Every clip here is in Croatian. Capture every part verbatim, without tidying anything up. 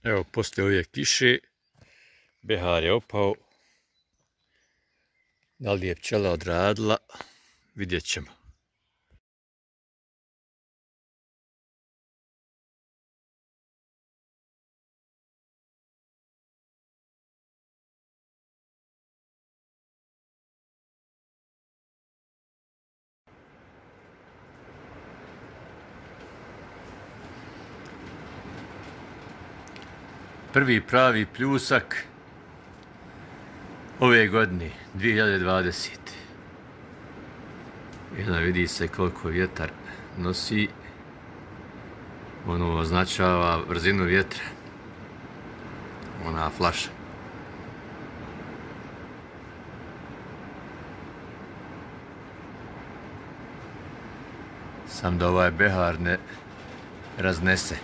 Evo, poslije ove kiše, behar je opao. Da li je pčela odradila, vidjet ćemo. Prvi pravi pljusak ove godine, dvije hiljade dvadesete. Jedna vidi se koliko vjetar nosi. Ono označava brzinu vjetra. Ona flaša. Sam da ovaj behar ne raznese.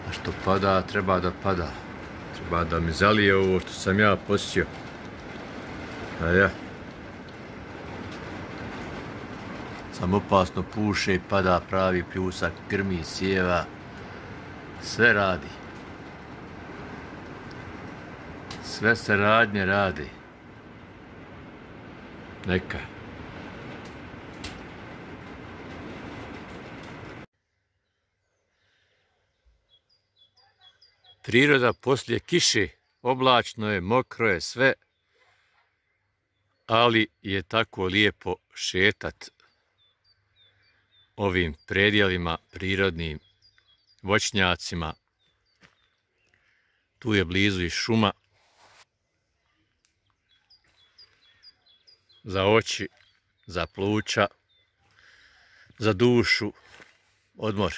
A što pada, treba da pada. Treba da mi zalije ovo što sam ja posio. A ja. Sam opasno puše i pada pravi pljusak, grmi, sjeva. Sve radi. Sve se radnje radi. Neka. Priroda poslije kiše, oblačno je, mokro je sve, ali je tako lijepo šetat ovim predjelima prirodnim, voćnjacima. Tu je blizu i šuma. Za oči, za pluća, za dušu, odmor.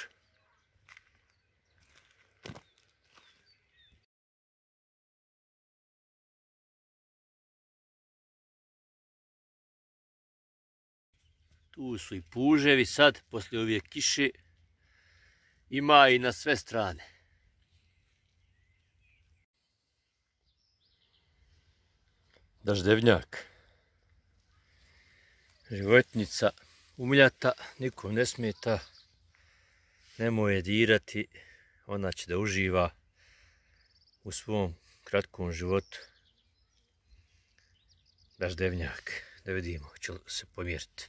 Tu su i puževi sad, poslije ove kiše. Ima i na sve strane. Daždevnjak. Životinjica umljata, nikom ne smeta. Nemoj je dirati, ona će da uživa u svom kratkom životu. Daždevnjak, da vidimo, hoće li se pomjeriti.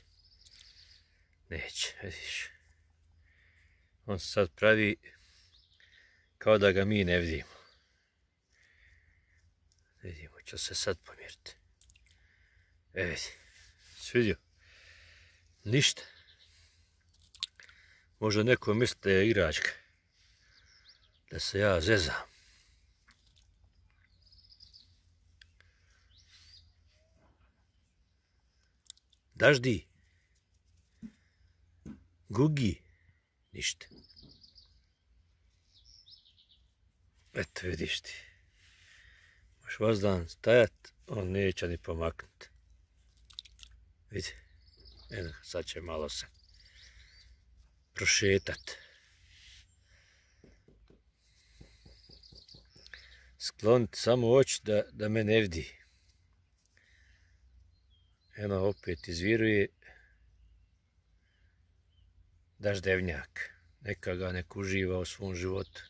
Neće, vidiš. On se sad pravi kao da ga mi ne vidimo. Vidimo, će se sad pomjeriti. E vidi, svidio? Ništa. Možda neko misli da je igračka. Da se ja zezam. Daždi. Gugi. Ništa. Eto vidiš ti. Možeš vas dan stajat, on neće ni pomaknuti. Vidi. Eno, sad će malo se prošetat. Skloniti samo oči da, da me ne vidi. Eno opet izviruje daždevnjak. Neka ga nek uživa u svom životu.